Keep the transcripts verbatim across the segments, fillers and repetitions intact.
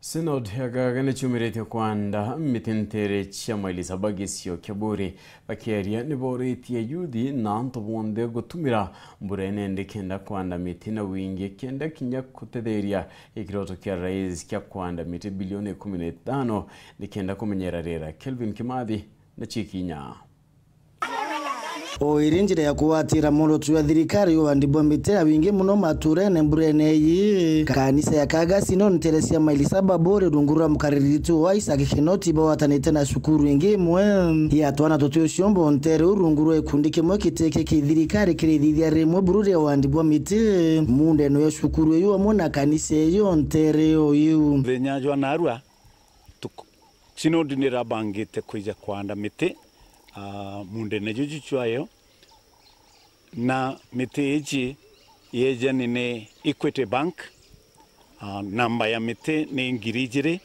Synod ya Gaga ni ciumiritie kwanda miti ntere cia maili saba gicio kia Buuri. Bakiaria ni boritie yuthi na antu bonthe gutumira mbura inene kenda kwanda miti na wingi, kenda kinya kutetheria gikiroto kia rais kia kwanda miti bilioni ikumi na itano ni kenda kumenyera riera. Kelvin Kimathi na cikinya. O iri njira ya kugwatira mworoto jwa thirikari ya uandi bwa miti ya wingi muno maturene mburene iyi, kanisa ya Kagasi no ntere cia maili saba Buuri rungu rwa mukaririri tu wa Isaac Kinoti bagwatanite na cukuru ingi imwe ya twana tuti uciombo ntere u rungu rwa gikundi kimwe kitiki ki thirikari kirithithia rimwe buru ria uandi bwa miti mundene ya cukuru iyu amwe na kanisa iyo ntere o iu. Muthenya jwa narua, tuku-, Synod nirabangite kwija kwanda miti, ah, mundene juju jwayo, na miti iji yejani ni Equity Bank, ah, namba ya miti ni ngiri ijiri,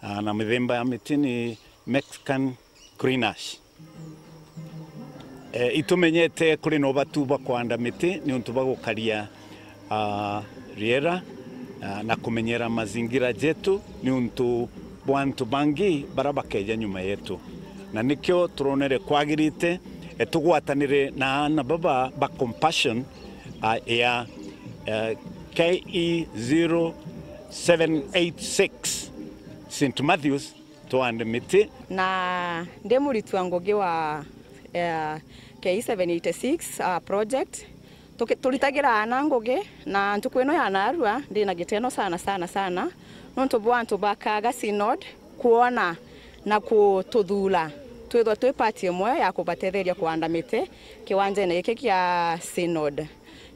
ah, na mithemba ya miti ni Mexican Green Ash. Eh, itumenyete kuri na ubatu bwa kwanda miti niuntu bwa gukaria, ah, riera, ah, na kumenyera mazingira jetu niuntu bwa antu bangi bara bakeja nyuma yetu. Na nikio turonere kwagirite, eh, tugwatanire na aana baba ba Compassion, ah, ya, eh, K E zero seven eight six Saint Matthews, twande miti. Na ndi muritwa ngugi wa, eh, K seven eighty-six, ah, project. Tuki-, turitagira aana ngugi, na ntuku ino ya narua, ndi na giteno sana, sana, sana, nontu bwa antu ba Kaga Synod kwona na kututhura twithwa twi part imwe ya kubatetheria kuanda miti kiwanjene giki kia Synod.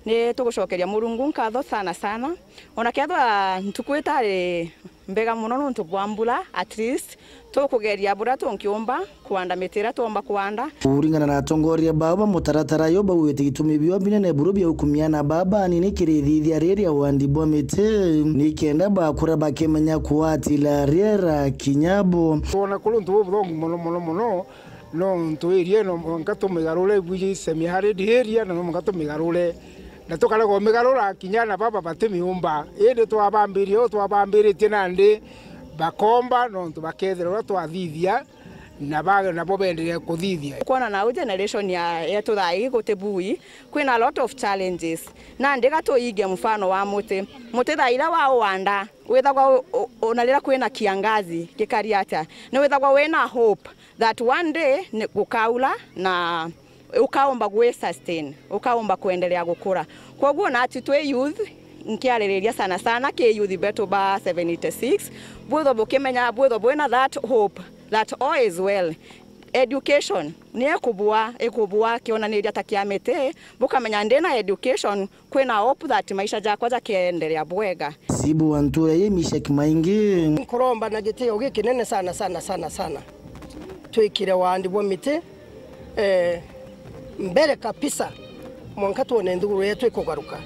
Ni tugucokeria Murungu nkatho sana, sana. Ona kethwa ntuku itari mbega muno nontu bwa mbura, at least tukugeria buria tunkiumba kwanda miti iria tuumba kwanda. Kuringana na atongoria bao ba mutaratara yo, baugite gitumi bio binene buru bia ukumia na baba anini kirithithia riria wandi bwa miti, ni kenda bakura bakimenya kuatila riera kinya bo. Twona kuri untu bubuthongu muno, muno, muno, nontu area ino mwanka tumigarure, bwiji semi arid area, na no mwanka tumigarure. Na tukarega umigarura kinya na baba batimiumba. Indi twabambirie uu twabambiritie nandi bakomba, nontu bakethira uria twathithia, na ba-, nabo beenderea kuthithia. Kwona nau generation ya, yetu thaa ii guti bui, kwina a lot of challenges. Nandi ga tuige mfano wa muti. Muti thaa iria wauanda, withagwa u-, u-, ona riria kwina kiangazi gikari atia, ni withagwa wina hope that one day ni gukaura na ukaumba gwi sustain, ukaumba kuendelea gukura. Kwoguo nati twi youth, nkiaririria sana sana ki youth betu ba seven eighty-six, bwithwa bukimenya, bwithwa bwina that hope that all is well. Education ni ikubua, ikubua kionaniria ta kia miti, bukamenya ndina education, kwina hope that maisha jakwa jakeendelea bwega. Sibu wa ntura yi Mishek Maingi. Nkuromba na gitio gikinene sana, sana, sana, sana. Twikire wandi bwa miti, eh, mbere kabisa, mwanka twone nthiguru yetu ikugaruka.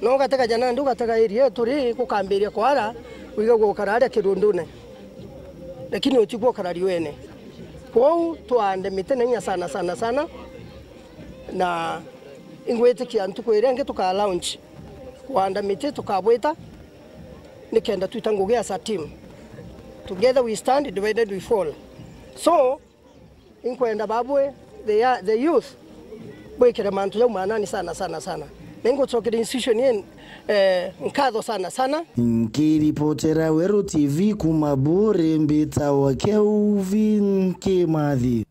No gatega ja nandi ugatega area yetu ri, gukambiria kwara, wiga gukara aria kirundune. Lakini utigwo ukara riwene. Kwou twande miti na inya sana, sana, sana. Na ingwitikia ntuku iria ingi tuka launch kwanda miti tukabwita, nikenda twita ngugi as a team. Together we stand, divided we fall. So, inkwenda babwe, the, the youth, bwikire mantu jau manani sana, sana, sana. Na ingucokera institution ii, eh, nkatho sana, sana. Nkiripotera Weru T V kuma Buuri, mbitawa Kelvin Kimathi.